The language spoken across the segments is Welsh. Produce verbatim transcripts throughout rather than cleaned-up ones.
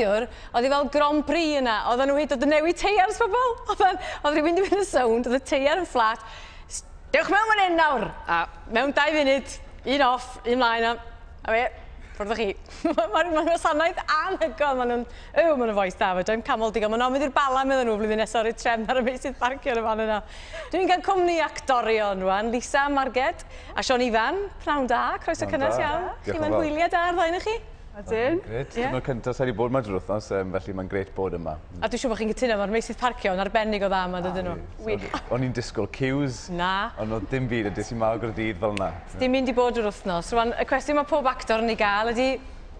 Neithiwr, oedd hi fel Grand Prix yna, oedden nhw hyd yn newid teiars pobl. Oedd oedd rhywun wedi mynd yn sownd, oedd y teiar yn fflat. Dewch mewn fan hyn nawr! A mewn dau funud, un off, un mlaen, a, a fe, ffwrdd â chi. Mae'n ma wasanaeth anhygoel, maen nhw'n... Yw, maen nhw'n fois da, fe, dwi'n camol digon. Maen nhw'n mynd i'r Bala, meddyn nhw, blwyddyn nesaf o'r trefn ar y meysydd parcio yn y fan yna. Dwi'n cael cwmni actorion rwan, Lisa Marged a Siôn Ifan. Pnawn da, croeso cynnes iawn. Chi mewn hwyliau da ar ddau chi? Ydyn. Grêt. Yeah. Dyma'r cyntaf sa'i wedi bod yma drwy'r wythnos, um, felly mae'n grêt bod yma. A dwi'n siŵr bod chi'n cytuno, mae'r meysydd parcio yn arbennig o dda yma, dydyn nhw. Wych. O'n i'n disgwyl queues. Na. Ond oedd dim byd, a des i mawr Gaerdydd fel yna. Dim mynd i bod yr wythnos. Rwan, y cwestiwn mae pob actor yn ei gael ydy,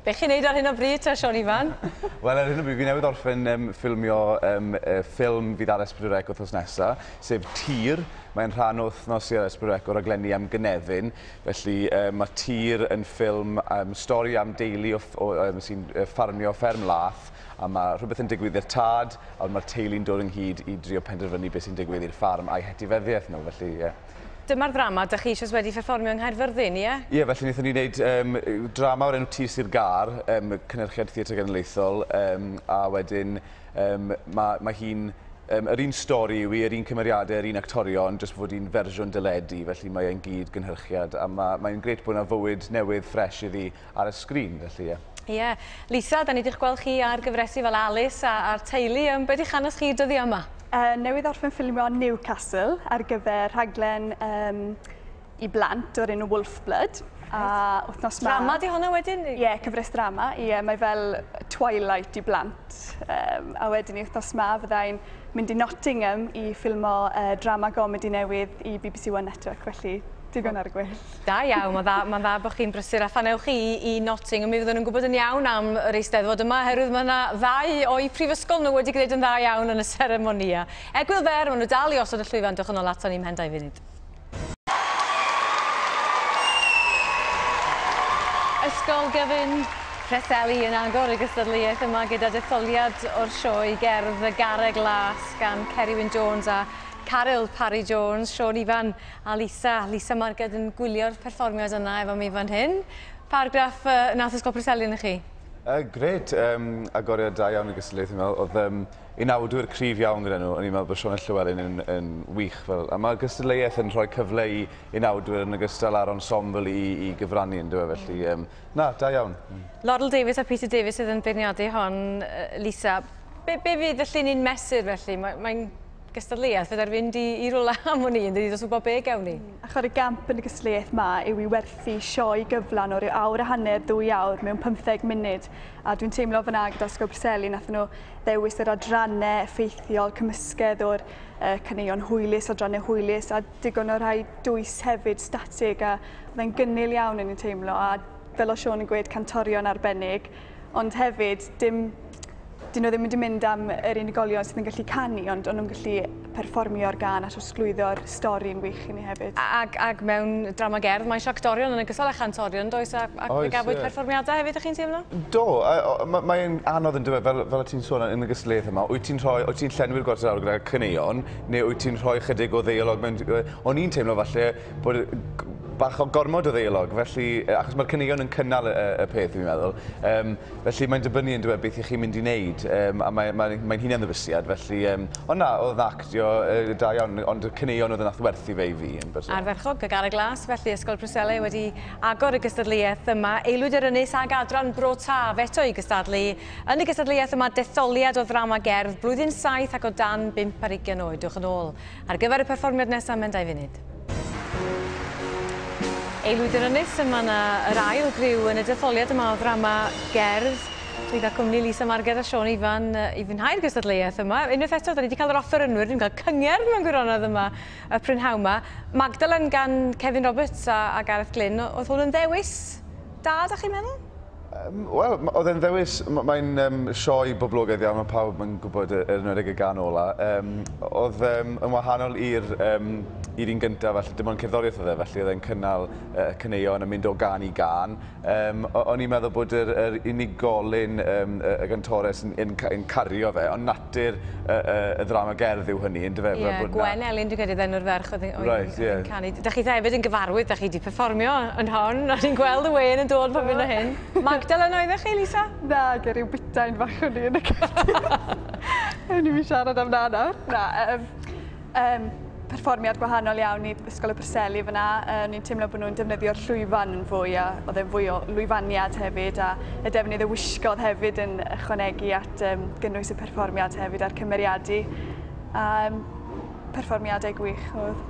be chi'n neud ar hyn o bryd ta, Siôn Ifan? Wel, ar hyn o bryd, fi newydd orffen um, ffilmio um, uh, ffilm fydd ar S pedwar C wythnos nesaf, sef Tir. Mae'n rhan o wythnos i ar S pedwar C o raglenni am gynefin. Felly um, mae Tir yn ffilm um, stori am deulu o, o, um, sy'n ffarmio fferm lath, a mae rhywbeth yn digwydd i'r tad, a mae'r teulu'n dod ynghyd i drio penderfynu beth sy'n digwydd i'r ffarm a'i hetifeddiaeth nhw, felly ie. Yeah. Dyma'r ddrama, dych chi eisoes wedi perfformio yng Nghaerfyrddin, ie? Ie, felly wnaethon ni wneud um, drama o'r enw Tir Sir Gâr, um, cynhyrchiad Theatr Genedlaethol, um, a wedyn um, mae ma hi'n um, yr un stori yw hi, yr un cymeriadau, yr un actorion, jyst fod hi'n fersiwn deledu, felly mae e'n gyd gynhyrchiad, a mae'n mae grêt bod yna fywyd newydd ffres iddi ar y sgrin, felly ie. Ie. Yeah. Lisa, da ni wedi'ch gweld chi ar gyfresi fel Alice a, a'r teulu. Um, be di'ch hanes chi dyddiau yma? Uh, newydd orffen ffilmio Newcastle ar gyfer rhaglen um, i blant o'r enw Wolf Blood. A wythnos ma... Drama di hwnna wedyn? Ie, yeah, cyfres drama. Ie, yeah, mae fel Twilight i blant. Um, a wedyn i wythnos ma fyddai'n mynd i Nottingham i ffilmo uh, drama gomedi newydd i B B C One Network, felly digon ar y gwell. Da iawn, mae'n dda, ma dda bod chi'n brysur a phan ewch chi i Nottingham, mi fydden nhw'n gwybod yn iawn am yr Eisteddfod yma, oherwydd mae yna ddau o'i prifysgol nhw wedi gwneud yn dda iawn yn y seremonia. Egwyl fer, maen nhw dal i osod y llwyfan, dewch yn ôl aton ni ymhen dau funud. Ysgol Gyfun Preseli yn agor y gystadleuaeth yma gyda detholiad o'r sioe gerdd Y Garreg Las gan Ceri Wyn Jones a Caryl Parry Jones, Siôn Ifan a Lisa. Lisa Marged yn gwylio'r perfformiad yna efo mi fan hyn. Paragraff uh, nath Ysgol Preseli yn chi? Uh, Grêt, um, agoriad da iawn y gystadleuaeth, fi'n meddwl. Oedd um, unawdwyr cryf iawn gyda nhw. O'n i'n meddwl bod Sioned Llywelyn yn, yn wych. Fel. A mae'r gystadleuaeth yn rhoi cyfle i unawdwyr yn ogystal â'r ensemble i, i gyfrannu yn dyw e, felly um, na, da iawn. Mm. Laurel Davies a Peter Davies sydd yn beirniadu hon, Lisa. Be, be fydd felly ni'n mesur felly? Mae'n mae gystadleuaeth fydda'r fynd i, i rwla am hwn i, yn dydi, dos wybod be gewn ni. Mm. Achor y gamp yn y gystadleuaeth ma yw i werthu sioe gyflan o ryw awr a hanner, ddwy awr mewn pymtheg munud. A dwi'n teimlo fyna gyda Ysgol Preseli, nath nhw ddewis yr adrannau effeithiol, cymysgedd o'r uh, caneuon hwylus, adrannau hwylus, a digon o rhai dwys hefyd, statig, a oedd e'n gynnil iawn yn i'n teimlo, a fel o Siôn yn gweud, cantorion arbennig, ond hefyd dim dyn nhw ddim wedi mynd am yr unigolion sydd yn gallu canu, ond o'n nhw'n gallu perfformio'r gân a trosglwyddo'r stori'n wych i ni hefyd. Ag, ag mewn drama gerdd, mae eisiau actorion yn ogystal â chantorion, does? A, ac fe gafwyd yeah. perfformiadau hefyd, ych chi'n teimlo? Do, mae'n anodd yn dweud, fel, fel ti'n sôn yn y gystadleuaeth yma, wyt ti'n rhoi, wyt ti'n llenwi'r gwarter awr gyda caneuon, neu wyt ti'n rhoi chydig o ddeialog mewn... O'n i'n teimlo falle bod bach o gormod o ddeialog, felly, achos mae'r caneuon yn cynnal y, y peth, fi'n meddwl. Um, felly mae'n dibynnu yn dweud beth i chi'n mynd i wneud, um, a mae'n mae, mae hunan ddybysiad, felly... Um, ond na, oedd actio uh, da iawn, ond y caneuon oedd yn nath werthu fe i fi yn bersonol. Ardderchog, y Garreg Las, felly Ysgol Preseli wedi agor y gystadleuaeth yma. Aelwyd yr Ynys ag adran Bro Taf eto i gystadlu. Yn y gystadleuaeth yma, detholiad o ddrama gerdd, blwyddyn saith ac o dan bump ar ugain oed. Dewch yn ôl ar gyfer y perfformiad nesaf mewn dau funud. Aelwyd yr Ynys, yma yna yr ail griw yn y detholiad yma o ddrama gerdd. Dwi'n cael cwmni Lisa Marged a Siôn Ifan i fwynhau'r gystadleuaeth yma. Unwaith eto, da ni wedi cael yr offerynwyr, ni'n cael cyngerdd mewn gwirionedd yma y prynhawn yma. Magdalen gan Kevin Roberts a, a Gareth Glyn, oedd hwn yn ddewis da, da chi'n meddwl? Um, Wel, oedd e'n ddewis, mae'n um, sioe boblogaidd iawn, mae pawb yn gwybod yr enwedig y gân ola. Um, oedd um, yn wahanol i'r um, i'r un gyntaf, felly dim ond cerddoriaeth oedd e, felly oedd e'n cynnal uh, caneuon yn mynd o gân i gân. Um, o'n i'n meddwl bod yr, yr unigolyn, um, y, y gantores yn, yn, yn cario fe, ond natur y, y, y ddrama gerdd yw hynny, yndyfe? Ie, yeah, Gwen Elin, dwi'n credu, enw'r ferch oedd yn right, yeah. canu. Da chi hefyd yn gyfarwydd, da chi wedi perfformio yn hon, o'n i'n gweld y wên yn dod pan fynd o hyn. ardal yna oeddech chi, Lisa? Na, ger ryw butain fach o'n i yn y cefndir. Ewn ni fi siarad am na nawr. Na, um, um, perfformiad gwahanol iawn i Ysgol y Preseli fyna. O'n i'n teimlo bod nhw'n defnyddio'r llwyfan yn fwy a oedd e'n fwy o lwyfaniad hefyd a y defnydd y wisgodd hefyd yn ychwanegu at um, gynnwys y perfformiad hefyd a'r cymeriadu. A, um, perfformiadau gwych oedd.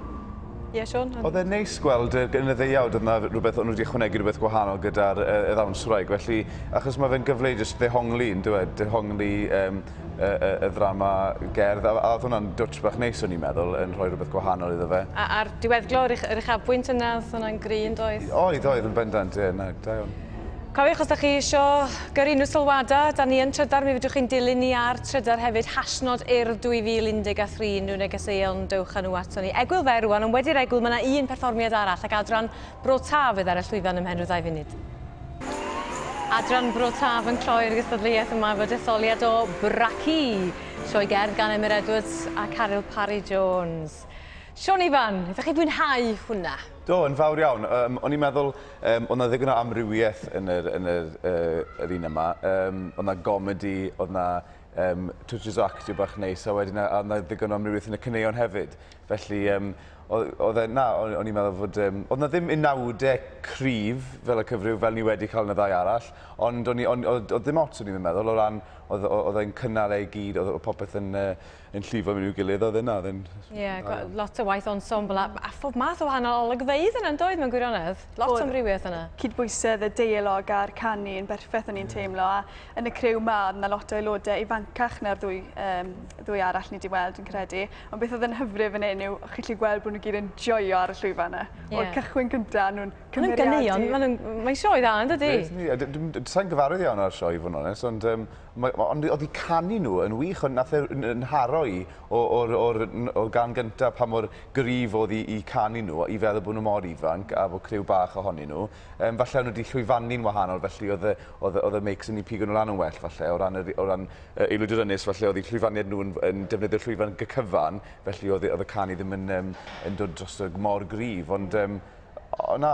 Ie, yeah, Siôn? Oedd e'n neis gweld yn y ddeuawd, oedd yna rhywbeth, o'n nhw wedi ychwanegu rhywbeth gwahanol gyda'r y, y ddawnswraig, felly achos mae fe'n gyfle i jyst ddehongli, yn dweud, dehongli um, y, y, y ddrama gerdd, a, a oedd hwnna'n dwtch bach neis o'n i'n meddwl, yn rhoi rhywbeth gwahanol iddo fe. A, a'r diweddglo, yr, yr uchafbwynt yna, oedd hwnna'n gry yn doedd? Oedd, oedd, yn bendant, ie, na, da iawn. Cofiwch os da chi isio gyrru unrhyw sylwadau, da ni yn Trydar, mi fedrwch chi'n dilyn ni ar Trydar hefyd, hashnod Urdd dwy fil un deg tri, unrhyw negeseuon, dewch â nhw ato ni. Egwyl fer rwan, ond wedi'r egwyl mae yna un perfformiad arall ac adran Bro Taf fydd ar y llwyfan ymhen rhyw ddau funud. Adran Bro Taf yn cloi'r gystadleuaeth yma efo detholiad o Braci, sioe gerdd gan Emyr Edwards a Caryl Parry Jones. Siôn Ifan, ydych chi fwynhau hwnna? Do, yn fawr iawn. Um, o'n i'n meddwl, um, oedd 'na ddigon o amrywiaeth yn yr, yn yr, uh, yr un yma. Um, oedd 'na gomedi, oedd 'na um, touches o actio bach neis, a wedyn oedd 'na ddigon o amrywiaeth yn y caneuon hefyd. Felly, um, oedd e, na, o'n i'n meddwl fod... Um, oedd 'na ddim unawdau cryf fel y cyfryw, fel ni wedi cael yn y ddau arall, ond o'n i, on, oedd, oedd ddim ots o'n i'n meddwl, o ran, oedd, oedd e'n cynnal ei gyd, oedd popeth yn, uh, yn llifo mewn i'w gilydd, oedd yna. Ie, yeah, lot o waith ensemble a, a phob math o wahanol olygfeydd yna, yn doedd mewn gwirionedd? Lot o amrywiaeth yna. Cydbwysedd y deialog a'r canu yn berffaith o'n i'n teimlo, a yn y criw ma, oedd yna lot o aelodau ifancach na'r ddwy, um, ddwy arall ni wedi weld, yn credu. Ond beth oedd yn hyfryd fan hyn yw, chi'n gallu gweld bod nhw gyd yn joio ar y llwyfan yna. Yeah. O'r cychwyn cyntaf, nhw'n cymeriadu. Maen Mae'n sioe dda, yn dydi? Sa'n gyfarwydd iawn ar sioe, i fod yn onest, ond, um, ond oedd eu canu nhw yn wych, ond nath e yn haro i o'r, or, or gan gyntaf pa mor gryf oedd i, i canu nhw, i feddwl bod nhw mor ifanc a bod criw bach ohonyn nhw. Um, falle o'n nhw wedi llwyfannu'n wahanol, felly oedd y, oedd, oedd y meics yn eu pigo nhw lan yn well, falle, o ran, o ran uh, Aelwyd yr Ynys, falle oedd eu llwyfaniad nhw yn, yn defnyddio'r llwyfan gycyfan, felly oedd, oedd y canu ddim yn, um, yn dod dros y mor gryf, ond um, o, na,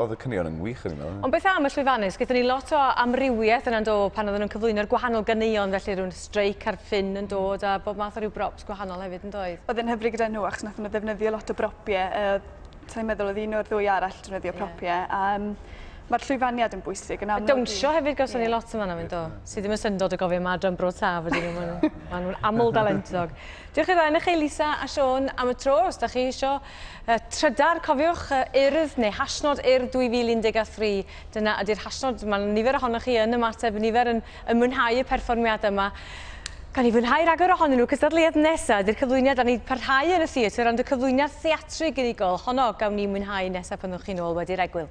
oedd y caneuon yn wych yn meddwl. Ond beth am y llwyfannus? Gaethon ni lot o amrywiaeth yna'n dod pan oedden nhw'n cyflwyno'r gwahanol ganeuon, felly rhywun streic ar ffin yn dod a bob math o ryw brops gwahanol hefyd yn doedd? Oedd yn hyfryd gyda nhw achos nath nhw ddefnyddio lot o bropiau. Sa'n meddwl oedd un o'r ddwy arall defnyddio propiau. Um, Mae'r llwyfaniad yn bwysig yn amlwg. Dawnsio hefyd gawson ni lot yma mynd o. Sydd ddim yn syndod o gofio ma adran Bro Taf ydyn nhw. Maen nhw'n aml dalentog. Diolch i'r ddau chi, Lisa a Siôn, am y tro. Os da chi isio uh, trydar, cofiwch uh, Urdd neu hashnod Urdd dwy fil un deg tri. Dyna ydy'r hashnod. Mae nifer ohonoch chi yn ymateb, nifer yn, yn mwynhau y perfformiad yma. Gawn ni fwynhau rhagor ohonyn nhw. Cystadleuaeth nesaf ydy'r cyflwyniad, a ni parhau yn y theatr, ond y cyflwyniad theatrig unigol. Honno gawn ni mwynhau nesaf pan ddewch chi nôl wedi'r egwyl.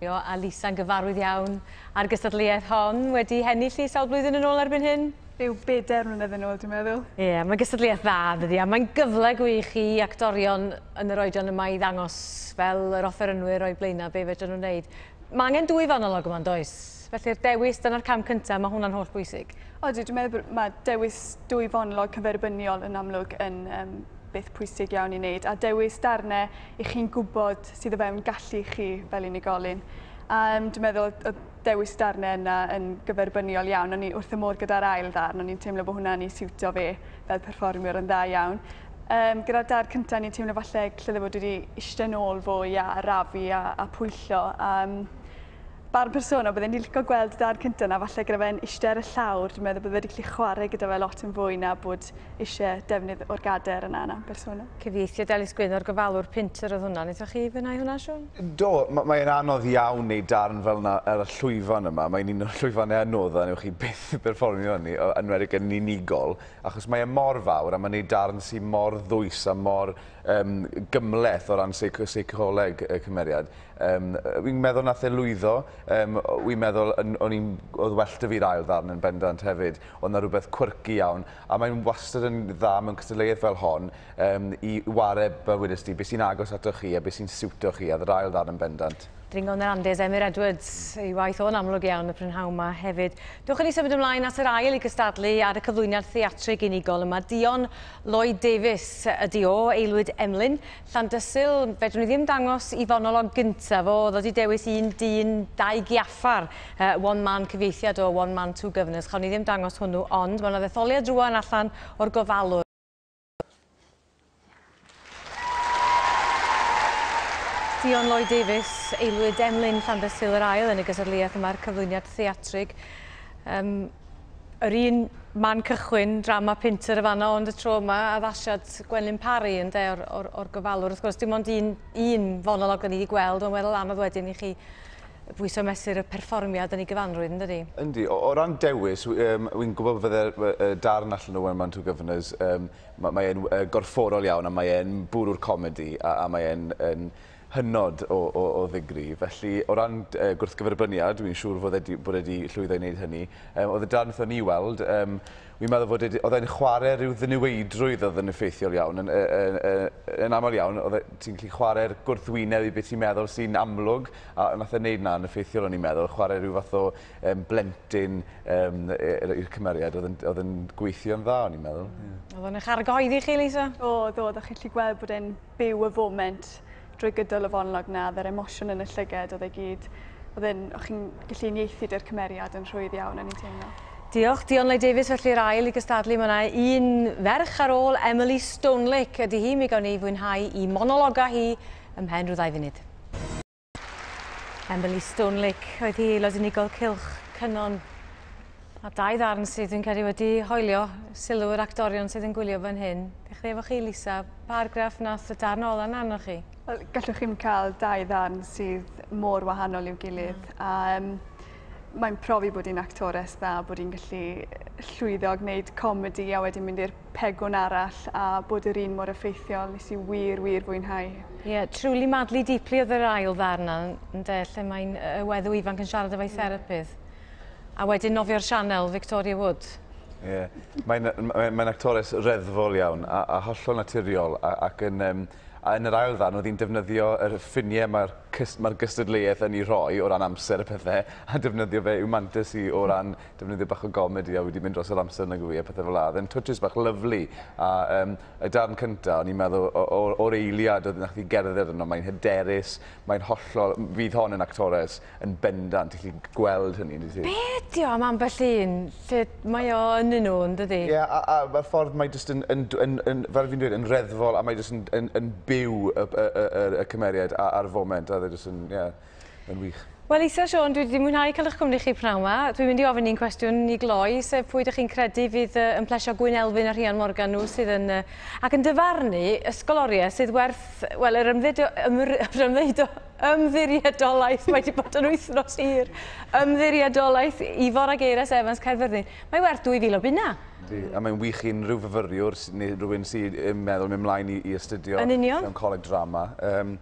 A Lisa'n gyfarwydd iawn ar gystadleuaeth hon, wedi hennill i sawl blwyddyn yn ôl erbyn hyn? Rhyw bedair mlynedd yn ôl, dwi'n meddwl. Ie, yeah, mae'n gystadleuaeth dda, dydi, a mae'n gyfle gwych i actorion yn yr oedran yma i ddangos fel yr offerynwyr o'i blaenau be fedrwn nhw'n wneud. Mae angen dwy fonolog yma, does? Felly'r dewis, dyna'r cam cyntaf, mae hwnna'n holl bwysig. Odi, dwi'n meddwl mae dewis dwy fonolog cyferbyniol yn amlwg yn um, beth pwysig iawn i wneud, a dewis darnau i chi'n gwybod sydd o fewn gallu chi fel unigolyn. Um, dwi'n meddwl y dewis darnau yna yn gyferbyniol iawn. O'n i wrth y modd gyda'r ail ddarn, o'n i'n teimlo bod hwnna'n i siwtio fe fel perfformiwr yn dda iawn. Um, gyda'r darn cyntaf, ni'n teimlo falle lle fod wedi eistedd nôl fwy a arafu a, a pwyllo. Um, Barn personol, bydden ni'n licio gweld y darn cyntaf yna, falle gyda fe'n eistedd ar y llawr, dwi'n meddwl bydde wedi gallu chwarae gyda fe lot yn fwy na bod eisiau defnydd o'r gader yna yna, personol. Cyfieithiad Elis Gwyn o'r gofalwr Pinter oedd hwnna. Wnaethoch chi fwynhau hwnna, Siôn? Do, mae'n anodd iawn wneud darn fel yna ar y llwyfan yma. Mae'n un o'r llwyfannau anoddaf, newch chi byth berfformio hynny, yn enwedig yn unigol, achos mae e mor fawr a mae'n neud darn sy'n mor ddwys a mor um, gymhleth o ran seicoleg y cymeriad. Um, Wy'n meddwl nath e lwyddo. Um, wy'n meddwl o'n i'n oedd well 'da fi'r ail ddarn yn bendant hefyd. Oedd 'na rhywbeth quirky iawn, a mae'n wastad yn dda mewn cystadleuaeth fel hon um, i ware, fel wedest ti, beth sy'n agos atoch chi a beth sy'n siwto chi, a yr ail ddarn yn bendant. Dringo yn yr Andes, Emyr Edwards, ei waith o'n amlwg iawn y prynhawn yma hefyd. Dewch i ni symud ymlaen at yr ail i gystadlu ar y cyflwyniad theatrig unigol yma. Dion Lloyd Davies ydi o, Aelwyd Emlyn. Llandysul, fedrwn ni ddim dangos i fonolog gyntaf o, oedd wedi dewis un dyn, dau giaffar, uh, one man cyfieithiad o One Man, Two Guvnors. Chawn ni ddim dangos hwnnw, ond mae yna ddetholiad rŵan allan o'r gofalwr. Dion Lloyd Davies, Aelwyd Emlyn Llandysul yr ail yn y gystadleuaeth yma'r cyflwyniad theatrig. Um, yr un man cychwyn, drama Pinter y fanno, ond y tro yma addasiad Gwenlyn Parry ynde, o'r, or, or gofalwr. Wrth gwrs, dim ond un, un fonolog da ni wedi gweld, ond weddol anodd wedyn i chi bwyso mesur y perfformiad yn ei gyfanrwydd, yn dydi? Yndi. O, o ran dewis, um, wy'n gwybod fydde'r darn allan o One Man Two Guvnors, um, mae e'n uh, gorfforol iawn a mae e'n bwrw'r comedi a, a mae e'n yn hynod o, o, o ddigri. Felly, o ran uh, gwrthgyferbyniad, dwi'n siŵr fod e bod e wedi llwyddo i wneud hynny. Um, oedd y darn wnaethon ni weld, um, wi'n meddwl fod e, oedd e'n chwarae rhyw ddiniweidrwydd oedd yn effeithiol iawn. Yn, yn, yn, yn aml iawn, oedd e, ti'n gallu chwarae'r gwrthwyneb i beth ti'n meddwl sy'n amlwg, a nath e wneud na yn effeithiol o'n i'n meddwl, chwarae rhyw fath o um, blentyn um, i'r cymeriad, oedd yn, oedd yn gweithio'n dda, o'n i'n meddwl. Mm. Yeah. Oedd o'n eich argyhoeddi chi, Lisa? Oedd, oedd, o'ch chi'n gallu gweld bod e'n byw y foment drwy gydol y fonolog na, oedd yr emosiwn yn y llyged, oedd e gyd, oedd e'n, o'ch chi'n gallu uniaethu dy'r cymeriad yn rhwydd iawn yn ei teimlo. Diolch, Dion Lloyd Davies, felly'r ail i gystadlu. Mae yna un ferch ar ôl, Emily Stonelake, ydy hi, mi gawn ni fwynhau i monologa hi ymhen rhyw ddau funud. Emily Stonelake oedd hi aelod unigol Cylch Cynon. A dau ddarn sydd dwi'n credu wedi hoelio sylw yr actorion sydd yn gwylio fan hyn. Dechrau efo chi, Lisa, pa argraff nath y darn ola na arnoch chi? Wel, gallwch chi'm cael dau ddarn sydd mor wahanol i'w gilydd. Mm. A, um, mae'n profi bod hi'n actores dda, bod hi'n gallu llwyddo a gwneud comedi a wedyn mynd i'r pegwn arall a bod yr un mor effeithiol. Nes i wir, wir fwynhau. Ie, yeah, Truly Madly Deeply oedd yr ail ddarn yna, ynde, lle mae'n y weddw ifanc yn siarad efo'i therapydd. A wedyn nofio'r sianel, Victoria Wood. Ie, yeah. Mae'n mae, mae actores reddfol iawn a, a hollol naturiol a, ac yn, um, a yn yr ail ddarn oedd hi'n defnyddio yr ffiniau mae'r mae'r gystadleuaeth yn ei rhoi o ran amser y pethau a defnyddio fe i'w mantais i o ran defnyddio bach o gomedi a wedi mynd dros yr amser nag yw i a pethau fel 'a. Oedd e'n touches bach lyfli a um, y darn cyntaf o'n i'n meddwl o'r eiliad oedd nath hi gerdded yno, mae'n hyderus, mae'n hollol, fydd hon yn actores yn bendant, ti'n gallu gweld hynny. Be ydi o am ambell un lle mae o yn nhw, yn dydi? Ie, yeah, a, a, a ffordd mae jyst yn, yn, yn, yn, fel fi'n dweud, yn reddfol a mae jyst yn, yn, yn byw y, y, y, y, y cymeriad a'r foment, a jyst yn, yeah, yn wych. Wel, Lisa, Siôn, dwi wedi mwynhau cael eich cwmni chi pnawn yma. Dwi'n mynd i ofyn un cwestiwn i gloi, sef pwy ydych chi'n credu fydd yn plesio Gwyn Elfyn a Rhian Morgan nhw sydd yn, ac yn dyfarnu ysgoloriaeth sydd werth, wel, yr ymddiriedolaeth, ymddiriedolaeth, mae wedi bod yn wythnos hir, ymddiriedolaeth Ifor ag Eiras Evans Caerfyrddin. Mae werth dwy fil o bunna. A mae'n wych i unrhyw fyfyriwr neu rhywun sy'n meddwl mynd ymlaen i, i astudio yn union mewn coleg drama. Um,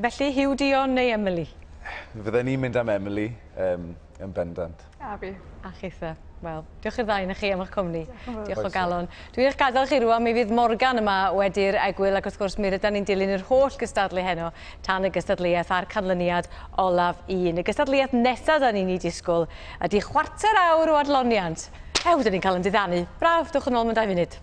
Felly, Huw Dion neu Emily? Fydden ni'n mynd am Emily um, yn bendant. A fi. A chitha. Wel, diolch i'r ddau na chi am eich cwmni. Diolch o galon. Dwi'n eich gadael chi rŵan, mi fydd Morgan yma wedi'r egwyl ac wrth gwrs mi rydan ni'n dilyn yr holl gystadlu heno tan y gystadleuaeth a'r canlyniad olaf un. Y gystadleuaeth nesaf da ni'n ei disgwyl ydy chwarter awr o adloniant. Ew, dyn ni'n cael yn diddanu. Braf, dewch yn ôl mewn dau funud.